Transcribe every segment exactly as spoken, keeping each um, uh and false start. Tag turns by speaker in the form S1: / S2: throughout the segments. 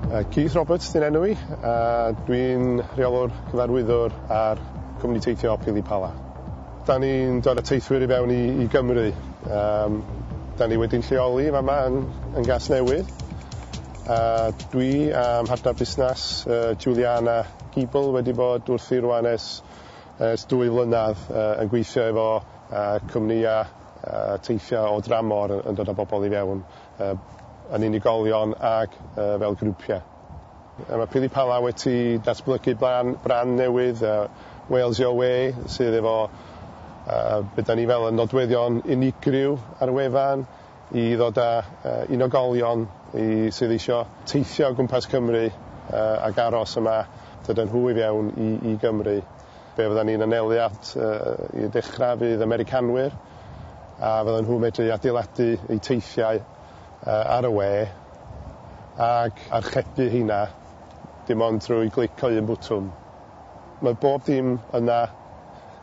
S1: Uh, Keith Roberts 'di'n enw i, a dwi'n rheolwr cyfarwyddwr ar cwmni teithio Pili Pala. Da ni'n dod â teithwyr i fewn i, i Gymru. Um, da ni wedi'n lleoli fama yn, yn Gasnewydd. Uh, dwi a mhartner busnes, uh, Juliana Giebel, wedi bod wrthi rwan ers, ers dwy flynedd uh, yn gweithio efo uh, cwmnïau uh, teithio o dramor yn, yn dod â bobl i fewn uh, yn unigolion ac uh, fel grwpiau. A mae Pili Pala wedi datblygu brand, brand newydd, uh, Wales Your Way, sydd efo uh, be da ni fel yn nodweddion unigryw ar y wefan i ddod â uh, unigolion i, sydd eisiau teithio o gwmpas Cymru uh, ac aros yma, dod â nhw i fewn i, i Gymru. Be fydda ni'n anelu at uh, i ddechrau fydd Americanwyr, a fyddan nhw'n medru adeiladu eu teithiau uh, ar y we ac archebu heina dim ond trwy glic o un bwtwm. Mae bob dim yna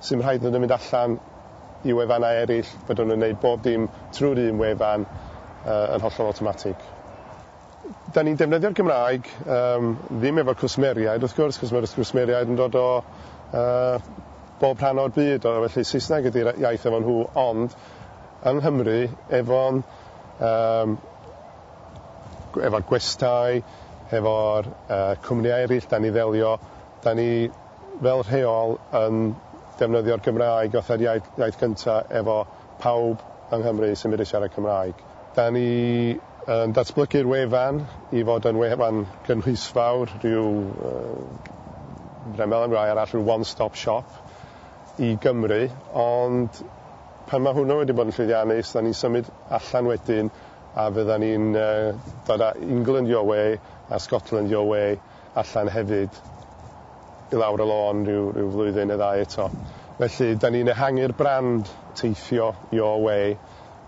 S1: sy'n rhaid nhw'n mynd allan i wefannau eraill, fydden nhw'n gwneud bob dim trwy'r un wefan uh, yn hollol awtomatig. Da ni'n defnyddio'r Gymraeg, um, ddim efo'r cwsmeriaid wrth gwrs, cos mae'r cwsmeriaid yn dod o uh, bob rhan o'r byd, o, felly Saesneg ydy'r iaith efo nhw, ond yng Nghymru, efo'n um, efo'r gwestai, efo'r uh, cwmnïau eraill da ni ddelio, da ni fel rheol yn defnyddio'r Gymraeg fatha'r iaith, iaith cyntaf efo pawb yng Nghymru sy'n mynd i siarad Cymraeg. Da ni yn datblygu'r wefan i fod yn wefan gynhwysfawr, rhyw, uh, fel am rai arall, rhyw one-stop shop i Gymru, ond pan mae hwnnw wedi bod yn llwyddiannus, da ni'n symud allan wedyn a fydda ni'n uh, dod â England Your Way a Scotland Your Way allan hefyd i lawr y lôn rhyw, rhyw flwyddyn neu ddau eto. Felly, da ni'n ehangu'r brand teithio Your Way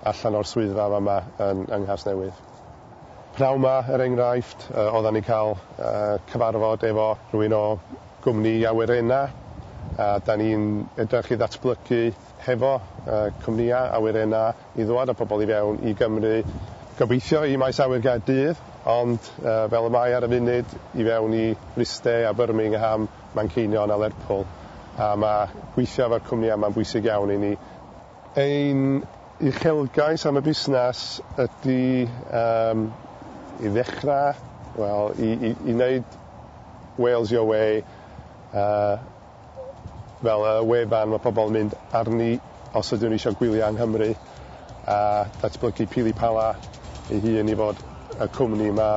S1: allan o'r swyddfa yma yn, yng Nghasnewydd. Pnawn 'ma, er enghraifft, uh, oedden ni'n cael uh, cyfarfod efo rhywun o gwmni awyrenna, a da ni'n edrych i ddatblygu hefo uh, cwmnïau awyrenna i ddwad â pobl i fewn i Gymru. Gobeithio i maes awyr Gaerdydd, ond uh, fel y mae ar y funud, i fewn i Bryste a Birmingham, Manceinion a Lerpwl. A mae gweithio efo'r cwmnïau yma'n bwysig iawn i ni. Ein uchelgais am y busnes ydy um, i ddechrau, wel, i, i, i wneud Wales Your Way uh, fel y wefan mae pobl yn mynd arni os ydyn nhw eisiau gwylio yng Nghymru a datblygu Pili Pala ei hun i fod y cwmni yma,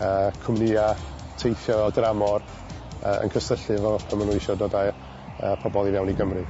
S1: uh, cwmnïau teithio o dramor uh, yn cysylltu efo pan maen nhw eisiau dod â uh, pobl i fewn i Gymru.